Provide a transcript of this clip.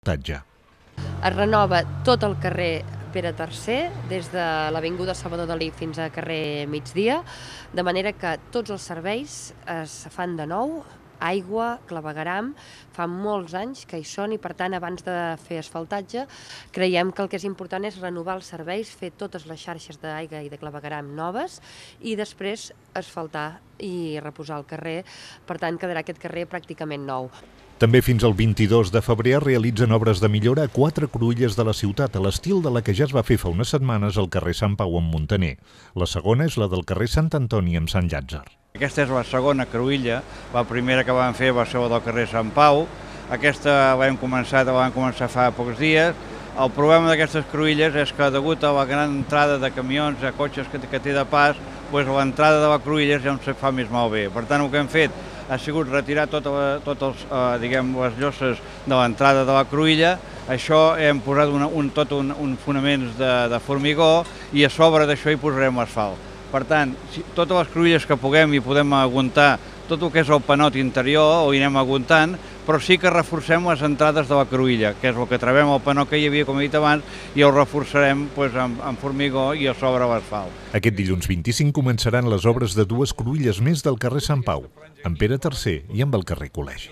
asfaltatge. Es renova tot el carrer Pere III, des de l'avinguda Salvador Dalí fins a carrer Migdia, de manera que tots els serveis es fan de nou, aigua, clavegueram, fa molts anys que hi són i per tant abans de fer asfaltatge creiem que el que és important és renovar els serveis, fer totes les xarxes d'aigua i de clavegueram noves i després asfaltar i reposar el carrer, per tant quedarà aquest carrer pràcticament nou. També fins al 22 de febrer es realitzen obres de millora a 4 cruïlles de la ciutat, a l'estil de la que ja es va fer fa unes setmanes al carrer Sant Pau amb Muntaner. La segona és la del carrer Sant Antoni amb Sant Llàtzer. Aquesta és la segona cruïlla, la primera que vam fer va ser la del carrer Sant Pau, aquesta vam començar fa pocs dies. El problema d'aquestes cruïlles és que degut a la gran entrada de camions, de cotxes que té de pas, l'entrada de la cruïlla ja no se fa més malbé. Per tant, el que hem fet ha sigut retirar totes les lloses de l'entrada de la cruïlla. Això hem posat un fonaments de formigó i a sobre d'això hi posarem asfalt. Per tant, totes les cruïlles que puguem i podem aguantar tot el que és el panot interior ho anirem aguantant, però sí que reforcem les entrades de la cruïlla, que és el que trobem al panot que hi havia, com he dit abans, i el reforçarem amb formigó i a sobre l'asfalt. Aquest dilluns 25 començaran les obres de 2 cruïlles més del carrer Sant Pau, amb Pere III i amb el carrer Col·legi.